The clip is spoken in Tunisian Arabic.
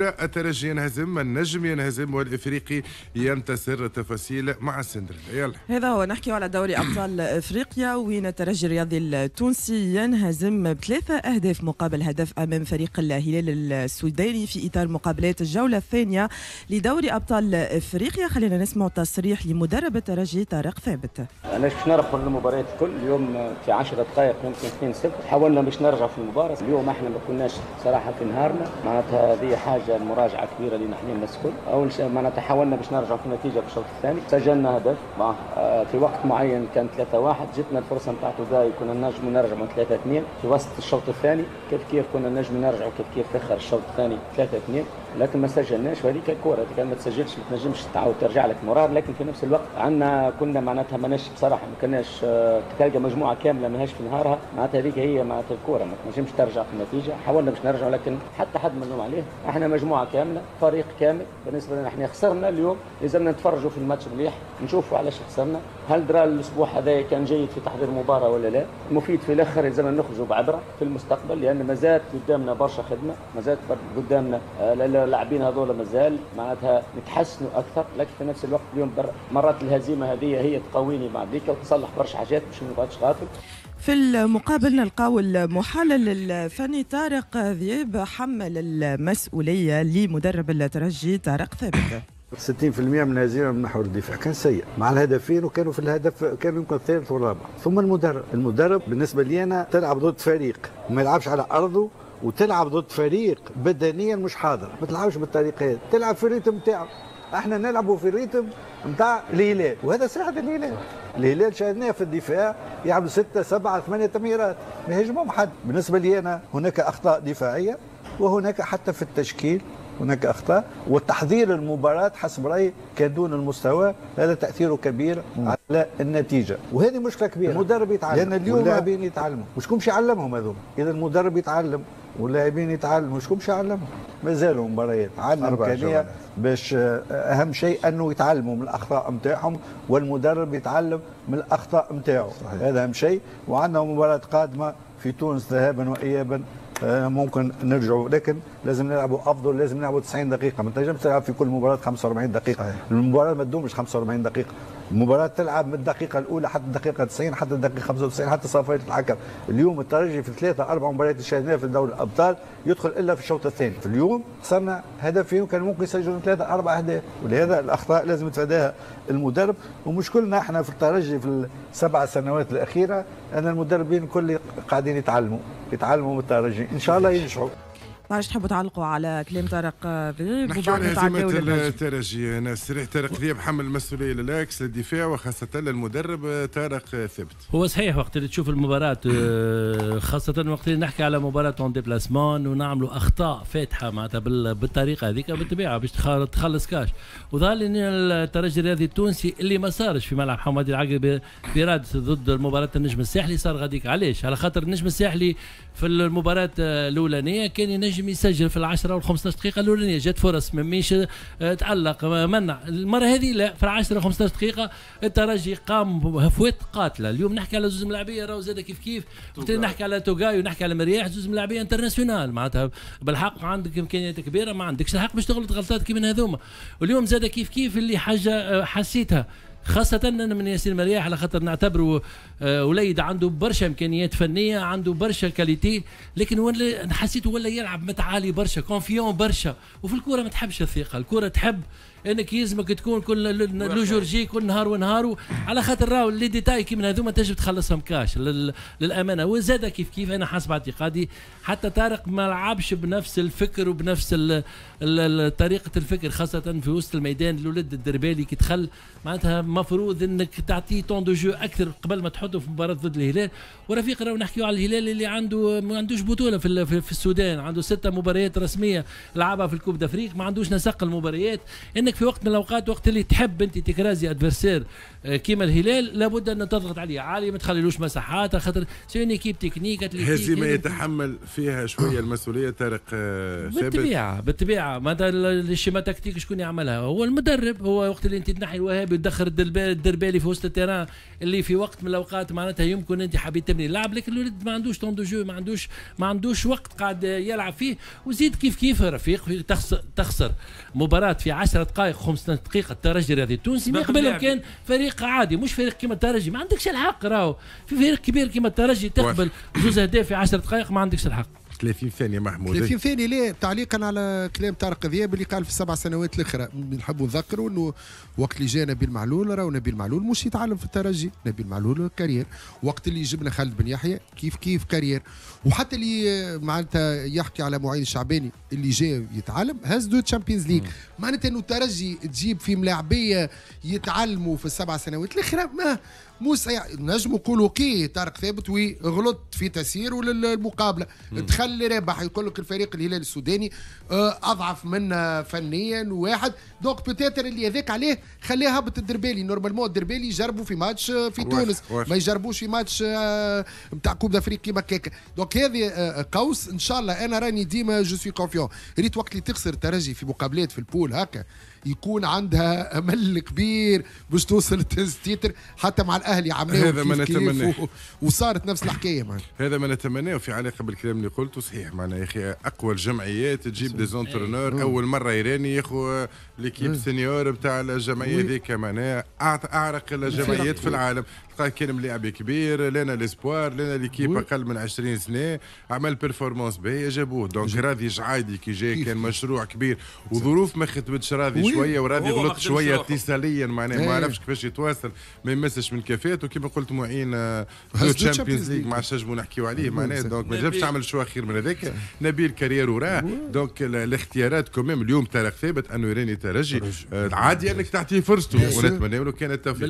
الترجي ينهزم، النجم ينهزم، والافريقي ينتصر. تفاصيل مع السندريلا، يلا. هذا هو، نحكي على دوري ابطال افريقيا وين الترجي الرياضي التونسي ينهزم ب3 اهداف مقابل هدف امام فريق الهلال السوداني في اطار مقابلات الجولة الثانية لدوري ابطال افريقيا. خلينا نسمع تصريح لمدرب الترجي طارق ثابت. علاش باش نربحوا المباريات الكل؟ اليوم في 10 دقائق يمكن 2-0، حاولنا باش نرجعوا في المباراه. اليوم احنا ما كناش صراحة في نهارنا، معناتها هذه حاجة مراجعه كبيرة لنا احنا الناس الكل. اول شيء معناتها حاولنا باش نرجعوا في النتيجة في الشوط الثاني، سجلنا هدف في وقت معين كان 3-1، جتنا الفرصة نتاع توغاي، كنا نجموا نرجعوا 3-2 في وسط الشوط الثاني، كيف كيف كنا نجموا نرجعوا كيف كيف في اخر الشوط الثاني 3-2، لكن ما سجلناش. وهذيك الكره كان ما تسجلش ما تنجمش تعاود ترجع لك moral. لكن في نفس الوقت عندنا كنا معناتها ماناش بصراحة ما كناش تلقى مجموعة كاملة ماهاش في نهارها، معناتها هذيك هي معناتها الكره ما تنجمش ترجع في النتيجه. حاولنا باش نرجعوا لكن حتى حد ما نلوم عليه، احنا مجموعة كامله، فريق كامل. بالنسبة لنا احنا خسرنا اليوم، لازمنا نتفرجوا في الماتش مليح، نشوفوا علاش خسرنا، هل درا الاسبوع هذا كان جيد في تحضير المباراة ولا لا. المفيد في الاخر لازم نخرجوا بعبره في المستقبل، لان مازالت قدامنا برشا خدمه، مازالت قدامنا اللاعبين هذول مازال معناتها نتحسنوا اكثر. لكن في نفس الوقت اليوم مرات الهزيمة هذه هي تقويني بعد وتصلح برشا حاجات باش ما نقعدش غافل. في المقابل نلقاو المحلل الفني طارق ذياب حمل المسؤولية لمدرب الترجي طارق ثابت. 60% من الهزيمة من محور الدفاع كان سيء مع الهدفين، وكانوا في الهدف كانوا يمكن الثالث والرابع. ثم المدرب، المدرب بالنسبة لي انا تلعب ضد فريق ما يلعبش على ارضه وتلعب ضد فريق بدنيا مش حاضر، ما تلعبش بالطريقة هذه، تلعب في ال rythme نتاعو. احنا نلعبوا في ال rythme نتاع الهلال وهذا ساعد الهلال. الهلال شاهدناه في الدفاع يعملوا ستة سبعة ثمانية تمريرات، ما يهجمهم حد. بالنسبة لي أنا هناك أخطاء دفاعية، وهناك حتى في التشكيل هناك اخطاء، وتحضير المباراة حسب رايي كان دون المستوى، هذا تاثيره كبير على النتيجه، وهذه مشكلة كبيره. المدرب يتعلم لان اليوم اللاعبين يتعلموا، وشكون باش يعلمهم هذوما؟ اذا المدرب يتعلم واللاعبين يتعلموا، شكون باش يعلمهم؟ مازالوا مباريات، عندنا امكانية باش اهم شيء انه يتعلموا من الاخطاء نتاعهم والمدرب يتعلم من الاخطاء نتاعو، هذا اهم شيء. وعندنا مباراة قادمة في تونس ذهابا وايابا، ممكن نرجعوا، لكن لازم نلعبوا افضل، لازم نلعبوا 90 دقيقه. ما تنجمش تلعب في كل مباراة 45 دقيقه. المباراة ما تدومش 45 دقيقه، المباراة تلعب من الدقيقة الاولى حتى الدقيقة 90، حتى الدقيقة 95، حتى صافرة الحكم. اليوم الترجي في ثلاثة اربع مباريات اللي شاهدناها في دوري الابطال يدخل الا في الشوط الثاني. في اليوم خسرنا هدفين وكان ممكن يسجلوا ثلاثة اربع اهداف، ولهذا الاخطاء لازم يتفاداها المدرب. ومشكلنا احنا في الترجي في ال7 سنوات الاخيرة ان المدربين الكل قاعدين يتعلموا، يتعلموا من الترجي، ان شاء الله ينجحوا. معلش، تحبوا تعلقوا على كلام طارق ذيب؟ نحكي على هزيمة الترجي ناس. طارق ذيب حمل المسؤولية لل axe، للدفاع، وخاصة للمدرب طارق ثابت. هو صحيح، وقت اللي تشوف المباراة خاصة وقت اللي نحكي على مباراة en déplacement ونعملوا أخطاء فادحة معناتها بالطريقة هذيك، بالطبيعة باش تخلص كاش. وظهر لي ان الترجي الرياضي التونسي اللي ما صارش في ملعب حمادي العقربي في رادس ضد المباراة النجم الساحلي صار غاديك. علاش؟ على خاطر النجم الساحلي في المباراة الأولانية كان ينجم يسجل في ال10 وال 15 دقيقة الأولانية، جات فرص، مميش تألق منع. المرة هذه لا، في ال10 15 دقيقة الترجي قام بهفوات قاتلة. اليوم نحكي على زوز ملاعبية راهو زاد كيف كيف، نحكي على توغاي ونحكي على مرياح، زوز ملاعبية internationaux، معناتها بالحق عندك إمكانيات كبيرة، ما عندكش الحق باش تغلط غلطات كيما هذوما. واليوم زاد كيف كيف اللي حاجة حسيتها خاصة أنا من ياسين مرياح، على خاطر نعتبره وليد عنده برشا إمكانيات فنية، عنده برشا qualités، لكن ولا حسيته ولا يلعب متعالي برشا، confiant برشا. وفي الكورة ما تحبش الثقة، الكورة تحب انك يلزمك تكون كل le jour J، كل نهار ونهار، على خاطر راهو les détails كيما هذوما تنجم تخلصهم كاش للامانه. وزاد كيف كيف انا حسب اعتقادي حتى طارق ما لعبش بنفس الفكر وبنفس طريقه الفكر، خاصة في وسط الميدان. الولد الدربالي كي دخل معناتها مفروض انك تعطيه temps de jeu اكثر قبل ما تحطه في مباراة ضد الهلال. ورفيق راهو نحكيو على الهلال اللي عنده ما عندوش بطوله في السودان، عنده ستة مباريات رسمية لعبها في ال Coupe d'Afrique، ما عندوش نسق المباريات. انك في وقت من الاوقات وقت اللي تحب انت تكرازي adversaire كيما الهلال لابد ان تضغط عليه عالي، ما تخليلوش مساحات، خاطر c'est une équipe technique. هزيمة يتحمل فيها شوية المسؤولية طارق ثابت. بالطبيعة بالطبيعه، معناتها ال schéma tactique شكون يعملها؟ هو المدرب. هو وقت اللي انت تنحي الوهابي وتدخل الدربالي. الدربالي في وسط ال terrain اللي في وقت من الاوقات معناتها يمكن انت حبيت تبني اللعب، لكن الولد ما عندوش temps de jeu، ما عندوش وقت قاعد يلعب فيه. وزيد كيف كيف رفيق تخسر مباراة في 10 دقائق، 15 دقيقه، الترجي الرياضي التونسي ما يقبلهم كان فريق عادي، مش فريق كيما الترجي. ما عندكش الحق، راهو في فريق كبير كيما الترجي تقبل زوز اهداف في 10 دقائق، ما عندكش الحق. 30 ثانية محمود. 30 ثانيه. ليه؟ تعليقا على كلام طارق ذياب اللي قال في ال7 سنوات الاخرى، نحب نذكروا انه وقت اللي جاء نبيل معلول، راهو نبيل معلول مش يتعلم في الترجي، نبيل معلول carrière. وقت اللي جبنا خالد بن يحيى كيف كيف carrière. وحتى اللي معناتها يحكي على معين الشعباني اللي جاء يتعلم، هز deux Champions League. معناتها انه الترجي تجيب في ملاعبيه يتعلموا في ال7 سنوات الاخرى ما مو صحيح. نجم نقولوا OK طارق ثابت oui غلط في تسييره للمقابله، دخل رابح، يقول لك الفريق الهلال السوداني اضعف منا فنيا واحد، donc peut-être اللي هذاك عليه خليه هبط الدربالي. normalement الدربالي يجربوا في ماتش في تونس، ما يجربوش في ماتش نتاع Coupe d'Afrique كيما كيك. donc هذه قوس ان شاء الله. انا راني ديما je suis confiant. ريت وقت اللي تخسر الترجي في مقابلات في ال poule هكا يكون عندها امل كبير باش توصل titre، حتى مع الاهلي عملوا هذا ما نتمناه. وصارت نفس الحكاية معنا. هذا ما نتمناه في علاقة بالكلام اللي قلته، صحيح. معنا يا اخي اقوى الجمعيات تجيب des entraîneurs اول مرة يراني ياخذ l'équipe senior بتاع الجمعية هذيك، معناها اعرق الجمعيات في العالم. تلقاه كان ملاعب كبير، لنا l'espoir، لنا l'équipe اقل من 20 سنه، عمل performance باهيه، جابوه. donc راضي جعايدي كي جاي كان مشروع كبير وظروف ما خدمتش راضي شويه، وراضي غلط شوية اتصاليا، معناها ما عرفش كيفاش يتواصل، ما يمسش من كفاءته. كيما قلت معين Champions League ما عادش نجموا نحكيو عليه، معناها donc ما جابش تعمل choix خير من هذاك. نبيل carrière وراه. donc الاختيارات quand même اليوم طارق ثابت انه يراني ترجي عادي انك تعطيه فرصته ونتمنى له كان التوفيق.